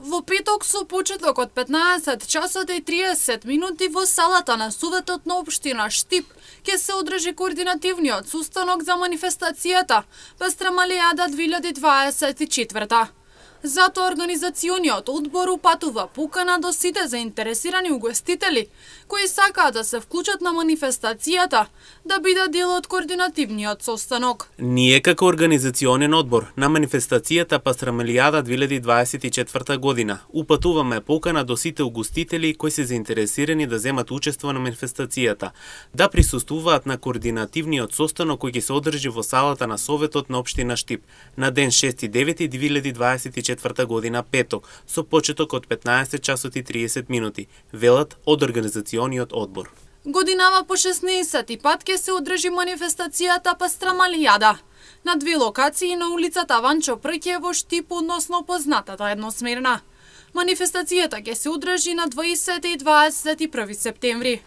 Во петок со почеток од 15 часот и 30 минути во салата на Советот на општина Штип ќе се одржи координативниот состанок за манифестацијата Пестрамалијада 2024. Затоа организациониот одбор упатува покана до сите заинтересирани угостители кои сакаат да се вклучат на манифестацијата да бидат дел од координативниот состанок. Ние како организационен одбор на манифестацијата Пестрамалијада 2024 година упатуваме покана до сите угостители кои се заинтересирани да земат учество на манифестацијата, да присуствуваат на координативниот состанок кој ќе се одржи во салата на Советот на општина Штип на ден 6.9.2024 година петок со почеток од 15 часот и 30 минути, велат од организациониот одбор. Годинава по 16 пат ќе се одржи манифестацијата Пестрамалијада на две локации на улицата Ванчо Прке во Штип, односно познатата едносмерна. Манифестацијата ќе се одржи на 20 и 21 септември.